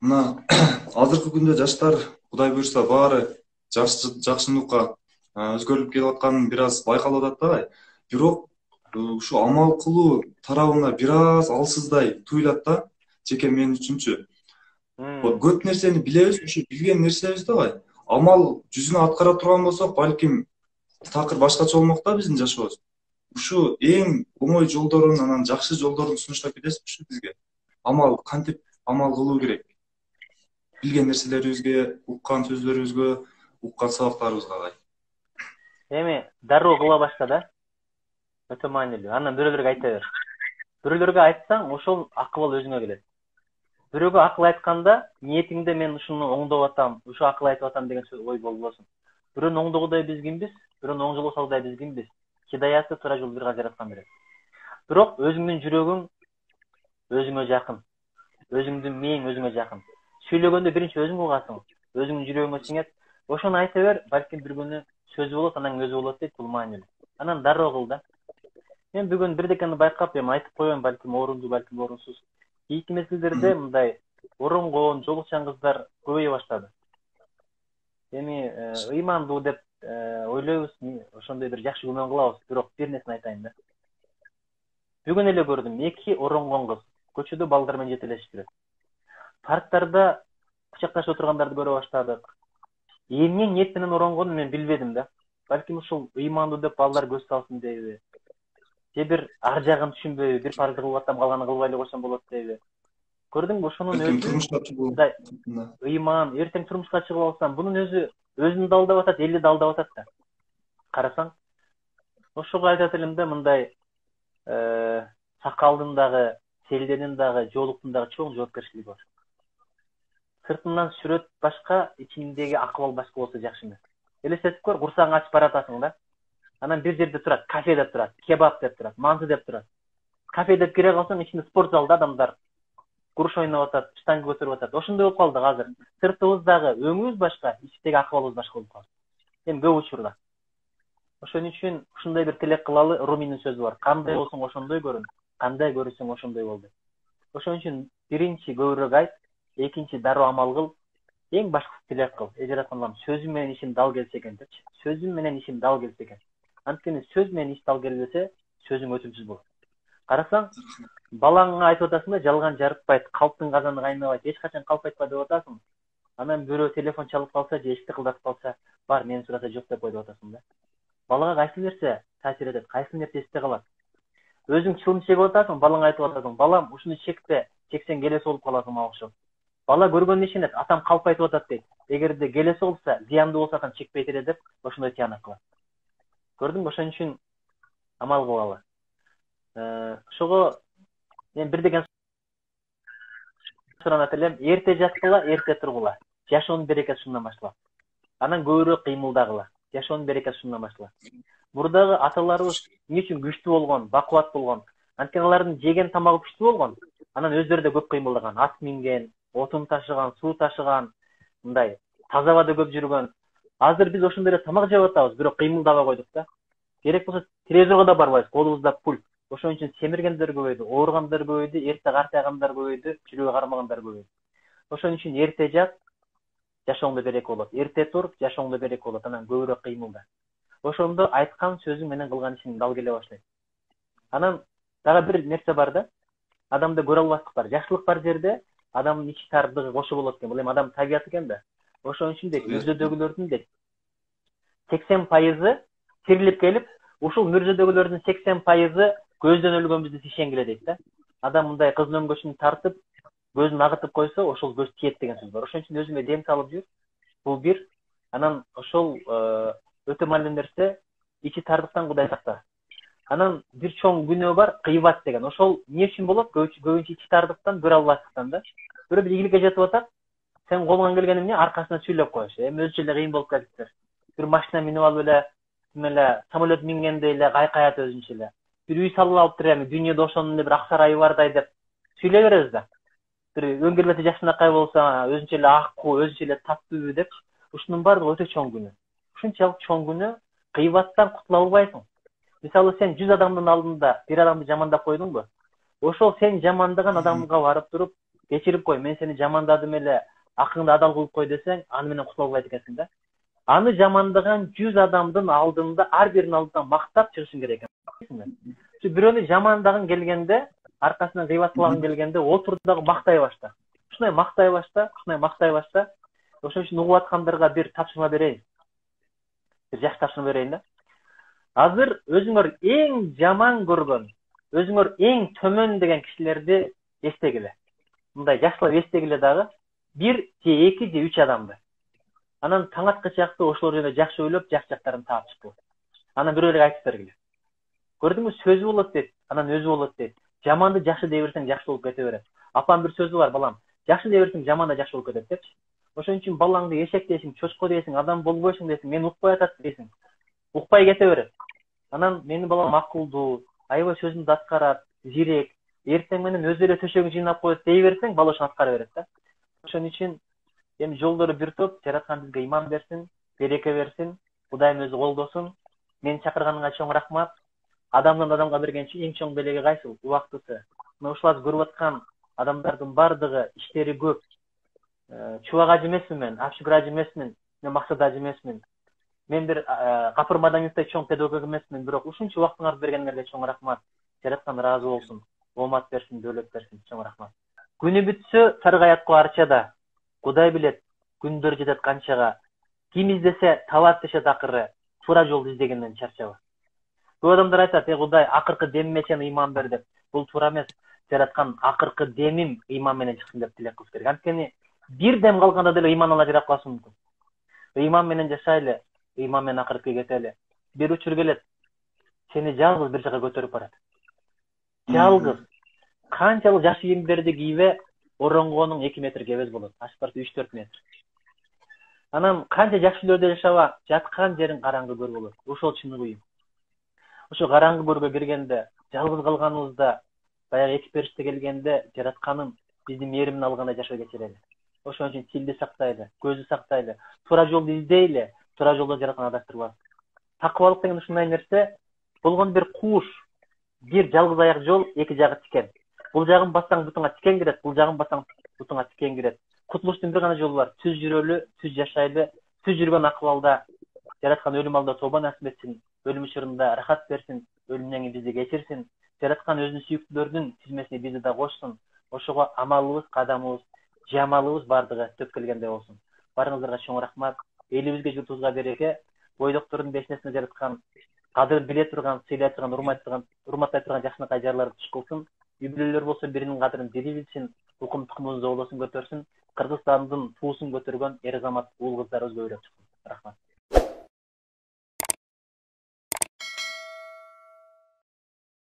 Мына азыркы күндө жаштар Кудай буйрса баары жакшыныкка өзгөрүлүп келип атканын бир аз байкалып атат да. Бирок ушу амал кылуу тарабына бир аз алсыздай туюлат да, жеке мен үчүнчү. Көп нерсени билебиз, ушу билген нерсебизди амал жүзүнө аткара турган болсок, балким такыр башкача болмок да биздин жашообуз. Ушу эң оңой жолдорун, анан жакшы жолдорун сунуштап кетесизби ушу бизге? Кантип амал кылуу керек? Билген нерселерибизге, уккан сөздөрүбүзгө, уккан сабактарыбызга Эми дароо кыла башта да. Өтө маанилүү. Андан бирөөлөргө айта бер. Бирөөлөргө айтсаң, ошол акыл өзүңө келет. Бирөөгө акыл айтканда, ниетиңде мен ушуну оңдоп атам, ушу акыл айтып атам деген ой болбосун. Бирөөнү оңдогудай биз кимбиз? Бирөөнү оң жолго салгыдай биз кимбиз? Хидаяты туура жол бир гана жараткан берет. Бирок өзүңдүн жүрөгүң өзүңө жакын. Өзүңдүн мээң өзүңө жакын. Сүйлөгөндө биринчи өзүң угасың, өзүңдүн жүрөгүңө сиңет. Ошону айта бер, балким бир күнү сөзү болот, анан өзү болот дейт, бул маанилүү. Анан дароо кыл да. Мен бүгүн бирдекени байкап, эми айтып коеюн, балким орунду, балким орунсуз. Кийинки мезгилдерде мындай оронгон, жолукчан кыздар көбөйө баштады. Эми ыймандуу деп ойлойбуз, ошондой бир жакшы күмөн кылабыз, бирок бир нерсени айтайын да. Бүгүн эле көрдүм, 2 оронгон кыз көчөдө балдар менен жетелешип жүрөт. Парктарда кучакташып отургандарды көрө баштадык. Эмне ниет менен оронгонун мен билбедим да. Балким ушул ыймандуу деп балдар көз салсын дейби? Же бир ар жагын түшүнбөйбү, бир парызды кылып атам, калганын кылбай эле койсом болот дейби? Көрдүңбү, ошонун өзү ыйман, эртең турмушка чыгып алсам, бунун өзүн да алдап атат, элди да алдап атат да. Карасаң, ошого айтат элем да, мындай сакалдын дагы, селденин дагы, жоолуктун дагы чоң жоопкерчилиги бар. Сыртынан сүрөт башка, ичиндеги акыбал башка болсо жакшы эмес. Элестетип көр, курсагың ачып баратасың да. Анан бир жерде турат, кафе деп турат, кебаб деп турат, манты деп турат. Кафе деп кире калсаң, ичинде спорт залда адамдар курш ойноп атат, штанга көтөрүп атат. Ошондой болуп калдык азыр. Сыртыбыздагы өңүбүз башка, ичтеги акыбалыбыз башка болуп калды. Эми көп учурда. Ошон үчүн ушундай бир тилек кылалы, Руминин сөзү бар. Кандай болсоң ошондой көрүн, кандай көрүсөң ошондой бол деп. Ошон үчүн биринчи көбүрөөк айт, экинчи дароо амал кыл, эң башкысы тилек кыл. Жараткан Аллам сөзүм менен ишим дал келсе экен депчи. Сөзүм менен ишим дал келсе экен. Анткени сөз менен иш дал келбесе, сөзүң өтүмсүз болот. Карасаң, балаңа айтып атасың да, жалган жарытпайт, калптын казаны кайнабайт, эч качан калп айтпа деп атасың. Анан бирөө телефон чалып калса, же эшикти кылдатып калса, бар мени сураса жок деп коюп атасың да. Балага кайсы нерсе таасир этет, кайсы нерсе эсте калат? Өзүң чылым чегип атасың, балаңа айтып атасың, балам ушуну чекпе, чексең келеси болуп каласың мага окшоп. Бала көргөнүн ишенет, атам калп айтып атат дейт. Эгерде келеси болса, зыяндуу болсо атам чекпейт эле деп, ошондой тыянак кылат. Көрдүңбү, ошон үчүн амал кылалы. Ошого мен бирдеген суранат элем, эрте жаткыла, эрте тургула. Жашоонун берекеси ушундан башталат. Анан көбүрөөк кыймылдагыла. Жашоонун берекеси ушундан башталат. Мурдагы аталарыбыз эмне үчүн күчтүү болгон, бакубат болгон? Анткени алардын жеген тамагы күчтүү болгон. Анан өздөрү да көп кыймылдаган, ат минген, отун ташыган, суу ташыган, мындай таза абада көп жүргөн. Азыр биз ошондой эле тамак жеп атабыз, бирок кыймылдабай койдук да. Керек болсо телевизорго да барбайбыз, колубузда пульт. Ошон үчүн семиргендер көбөйдү, ооругандар көбөйдү, эрте картайгандар көбөйдү, жүрөгү кармагандар көбөйдү. Ошон үчүн эрте жат, жашооңдо береке болот. Эрте тур, жашооңдо береке болот. Анан көбүрөөк кыймылда. Ошондо айткан сөзүң менен кылган ишиң дал келе баштайт. Анан дагы бир нерсе бар да. Адамда көрө албастык бар. Жакшылык бар жерде адамдын ичи тардыгы кошо болот экен. Бул эми адам табияты экен да. Ошон үчүн дейт, мүрзөдөгүлөрдүн дейт 80% тирилип келип, ушул мүрзөдөгүлөрдүн 80% көздөн өлгөнбүздү ишенгиле дейт да. Адам мындай кыздын өңгөчүн тартып, көзүн агытып койсо, ошол көз тиет деген сөз бар. Ошон үчүн өзүңө дем салып жүр. Бул бир. Анан ошол өтө маанилүү нерсе, ичи тардыктан Кудай сакта. Анан бир чоң күнөө бар, кыйбат деген. Ошол эмне үчүн болот? Көбүнчө ичи тардыктан, көрө албастыктан да. Бирөө бир ийгиликке жетип атат, сен колуңан келген эмне аркасынан сүйлөп коюш. Эми өзүнчө эле кыйын болуп кетиптир. Бир машина минип алып эле, самолет мингендей эле кайкаят өзүнчө эле. Бир үй салып алыптыр, эми дүйнөдө ошонун эле бир ак сарайы бардай деп сүйлөй беребиз да. Бир өңгөрбөтү жакшынакай болсо, өзүнчө эле аккуу, өзүнчө эле таттуу деп, ушунун баардыгы өтө чоң күнөө. Ушунчалык чоң күнөө, кыйбаттан кутула албайсың. Мисалы сен 100 адамдын алдында бир адамды жамандап койдуңбу? Ошол сен жамандаган адамга барып туруп, кечирип кой, мен сени жамандадым эле, акыңды адал кылып кой десең, аны менен кутула албайт экенсиң да. Аны жамандаган 100 адамдын алдында ар биринин алдында мактап чыгышың керек экен. Бирөөнү жамандагың келгенде, аркасынан кыйбатлагың келгенде, отур дагы мактай башта. Ушундай мактай башта. Ошон үчүн угуп аткандарга бир тапшырма берейин. Бир жакшы тапшырма берейин да. Азыр өзүңөр эң жаман көргөн, өзүңөр эң төмөн деген кишилерди эстегиле. Мындай жакшылап эстегиле дагы 1 же 2 же 3 адамды. Анан таң аткан чакта ошолор жөнүндө жакшы ойлоп, жактарын таап чыкты. Анан бирөөлөргө айтып бергиле. Көрдүңбү, сөзү болот дейт, анан өзү болот дейт. Жаманды жакшы дей берсең жакшы болуп кете берет. Апам бир сөзү бар, балам. Жакшы дей берсең жаман да жакшы болуп кетет депчи. Ошон үчүн балаңды эшек дейсиң, чочко дейсиң, адам болбойсуң дейсиң, мен укпай атат дейсиң. Укпай кете берет. Анан менин балам акылдуу, аябай сөзүндү аткарат, зирек, эртең менен өзү эле төшөгүн жыйнап коет дей берсең, бала ошону аткара берет да. Ошон үчүн эми жолдору бир топ, жараткан бизге иман берсин, береке берсин, Кудайым өзү колдосун. Мени чакырганыңа чоң рахмат. Адамдан адамга берген эң чоң белеги кайсыл? Убактысы. Мына ушуларды көрүп аткан адамдардын бардыгы иштери көп. Чубак ажы эмесмин мен, Абшүгүр ажы эмесмин, мен Максат ажы эмесмин. Мен бир Капыр Мадамиевдей чоң педагог эмесмин, бирок ушунча убактыңарды бергениңерге чоң рахмат. Жараткан ыраазы болсун, оомат берсин, дөөлөт берсин, чоң рахмат. Күнү бүтсө саргаятко арчада, Кудай билет, күндөр жетет канчага. Ким издесе табат дешет акыры, туура жолду издегенден чарчаба. Көп адамдар айтат, Кудай акыркы демиме сен ыйман бер деп. Бул туура эмес. Жараткан акыркы демим ыйман менен чыксын деп тилек кылыш керек. Анткени бир дем калганда деле ыйман ала жарап калышы мүмкүн. Ыйман менен жашайлы, ыйман менен акыркы кетели. Бир учур келет, сени жалгыз бир жака көтөрүп барат. Жалгыз. Канчалык жакшы кийимдерди кийбе, оронгонуң 2 метр кебез болот. Ашып барса 3-4 метр. Анан канча жакшы үйлөрдө жашаба, жаткан жериң караңгы көр болот. Ошол чыныгы үйүм. Ошо караңгы көргө киргенде, жалгыз калганыбызда, баягы эки периште келгенде, жаратканым биздин мээримин алгандай жашоо кечирели. Ошон үчүн тилди сактайлы, көздү сактайлы, туура жолду издейли, туура жолдо жараткан адаштырбас. Такыбалык деген ушундай нерсе, болгон бир кууш, бир жалгыз аяк жол, эки жагы тикен. Бул жагын бассаң бутуңа тикен кирет, бул жагын бассаң бутуңа тикен кирет. Кутулуштун бир гана жолу бар, түз жүрөлү, түз жашайлы, түз жүргөн акыбалда жараткан өлүм алдында тобо насип этсин, өлүм учурунда рахат берсин, өлүмдөн кийин бизди кечирсин, жараткан өзүнүн сүйүктүүлөрүнүн тизмесине бизди да кошсун. Ошого амалыбыз, кадамыбыз, жамалыбыз бардыгы төп келгендей болсун. Барыңыздарга чоң рахмат. Элибизге, журтубузга береке. Бойдоктордун бешнесине жараткан, кадырын биле турган, сыйлай турган, урматтай турган жакшынакай жарларды туш кылсын. Үй-бүлөлөр болсо биринин кадырын бири билсин, укум тукумубузду оолосун көтөрсүн. Кыргызстандын туусун көтөргөн эр азамат уул кыздарыбыз көбүрөөк чыксын. Рахмат.